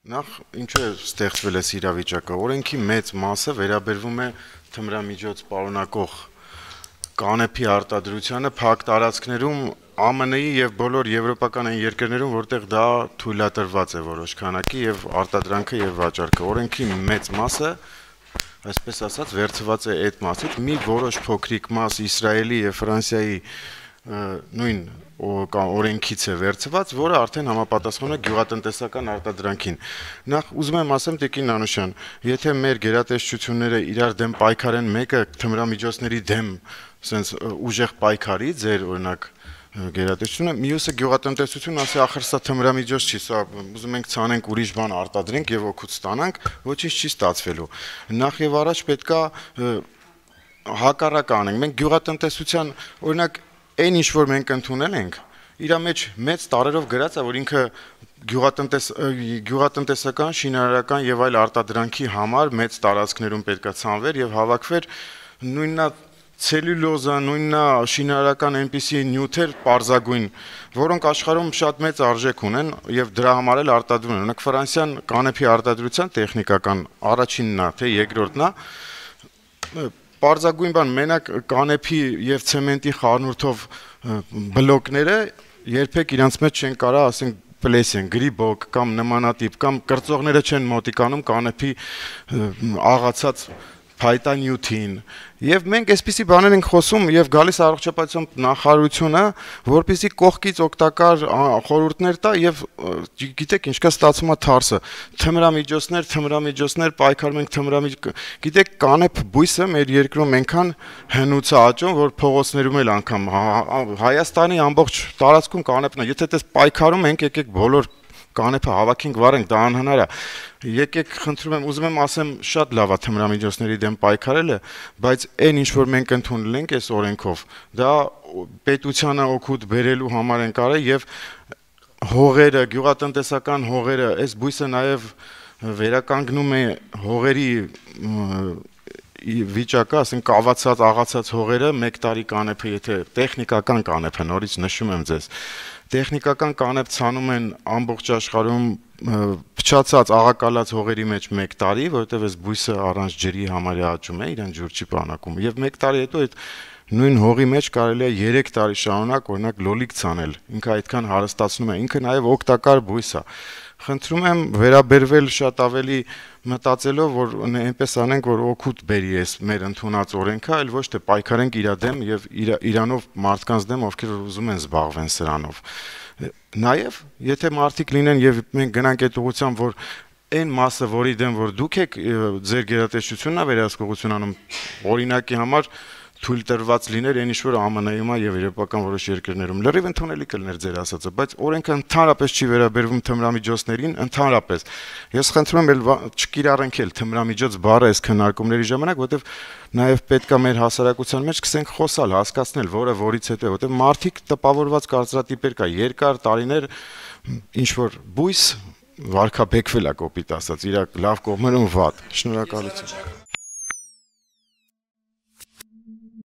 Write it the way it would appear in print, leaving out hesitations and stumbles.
Նախ ինչու է ստեղծվել այս իրավիճակը, օրենքի մեծ մասը վերաբերվում է թմրամիջոց պարունակող կանեփի արտադրությանը փակ տարածքներում ԱՄՆ-ի եւ բոլոր եվրոպական այն երկրներում, որտեղ դա թույլատրված է որոշ քանակի եւ արտադրանքը եւ վաճառքը։ Օրենքի մեծ մասը, այսպես ասած, վերցված է այդ մասից, մի որոշ փոքրիկ մաս Իսրայելի եւ Ֆրանսիայի նույն օրենքից է վերցված, որը արդեն համապատասխանում է գյուղատնտեսական արտադրանքին։ Նախ ուզում եմ ասեմ Տիկին Անուշյան, եթե մեր գերատեսչությունները իրար դեմ պայքարեն, մեկը թմրամիջոցների դեմ, ասենց ուժեղ պայքարի, ձեր օրինակ գերատեսչությունը, մյուսը գյուղատնտեսություն, ասի ախր սա թմրամիջոց չի, սա ուզում ենք ցանենք ուրիշ բան արտադրենք եւ օգուտ ստանանք, ոչինչ չի ստացվելու։ Նախ եւ առաջ պետքա հակառակ անենք։ Մենք գյուղատնտեսության, օրինակ այն ինչ որ մենք ընդունել ենք, իր մեջ մեծ տարերով գրած է, որ ինքը գյուղատնտեսական, շինարարական եւ այլ արտադրանքի համար մեծ տարածքներում պետքա ցանվեր եւ հավաքվեր նույննա ցելյուլոզա, նույննա շինարարական այնպիսի նյութեր պարզագույն, որոնք աշխարհում շատ մեծ արժեք ունեն եւ դրա համար էլ արտադրում են։ Օրինակ Ֆրանսիան կանեփի արտադրության տեխնիկական առաջինն է, թե երկրորդն է, պարզագույն բան մենակ կանեփի եւ ցեմենտի խառնուրդով բլոկները երբեք իրանց մեջ չեն կարա, ասենք պլեսեն, գրիբոկ կամ նմանատիպ կամ կրծողները չեն մոտիկանում կանեփի աղացած փայտանյութին եւ մենք այսպիսի բաներ ենք խոսում եւ գալիս առողջապահության նախարարությունը, որպեսզի կողքից օգտակար խորհուրդներ տա եւ գիտեք ինչքա ստացվում է թարսը թմրամիջոցներ պայքարում ենք գիտեք կանեփ բույսը մեր երկրում այնքան հնուց է աճում, որ փողոցներում էլ անգամ Հայաստանի ամբողջ տարածքում կանեփն է, եթե դες պայքարում ենք, եկեք բոլոր կանեփը հավաքենք վարենք, դա անհնար է։ Եկեք, խնդրում եմ, ուզում եմ ասեմ, շատ լավ է թմրամիջոցների դեմ պայքարելը, բայց այն ինչ որ մենք ընդունել ենք այս օրենքով, դա պետությանը օգուտ բերելու համար են կարել եւ հողերը, գյուղատնտեսական հողերը, այս բույսը նաեւ վերականգնում է հողերի վիճակը, ասենք կավացած, աղացած հողերը 1 տարի կանեփը, եթե տեխնիկական կանեփը, նորից նշում եմ ձեզ, տեխնիկական կանեփ ցանում են ամբողջ աշխարհում փչացած աղակալած հողերի մեջ 1 տարի, որովհետև այս բույսը առանց ջրի համարյա աճում է, իրան ջուր չի պահանակում, եւ 1 տարի հետո այդ նույն հողի մեջ կարելի է 3 տարի շարունակ օրինակ լոլիկ ցանել, ինքը այդքան հարստացնում է, ինքը նաեւ օգտակար բույս է։ Խնդրում եմ վերաբերվել շատ ավելի մտածելով, որ այնպես անենք, որ օգուտ բերի էս մեր ընդունած օրենքը, այլ ոչ թե պայքարենք իր դեմ եւ իրանով մարդկանց դեմ, ովքեր ուզում են զբաղվեն սրանով։ Նաեւ, եթե մարդիկ լինեն եւ մենք գնանք այդ ուղղությամբ, որ այն մասը, որի դեմ որ դուք եք ձեր գերատեսչությունն է վերահսկողություն անում, օրինակի համար թույլ տրված լիներ այն ինչ որ ԱՄՆ-ում է եւ եվրոպական որոշ երկրներում լրիվ ընդունելի կլներ ձեր ասածը, բայց օրենքը ընդհանրապես չի վերաբերվում թմրամիջոցներին, ընդհանրապես։ Ես խնդրում եմ չկիրառենք էլ թմրամիջոց բառը այս քննարկումների ժամանակ, որովհետեւ նաեւ պետքա մեր հասարակության մեջ սկսենք խոսալ, հասկացնել, որը որից հետո է, որովհետեւ մարդիկ տպավորված կարծրատիպեր կա, երկար տարիներ ինչ որ բույս վարկաբեկվել է կոպիտ ասած, իր լավ կողմերում վատ։ Շնորհակալություն։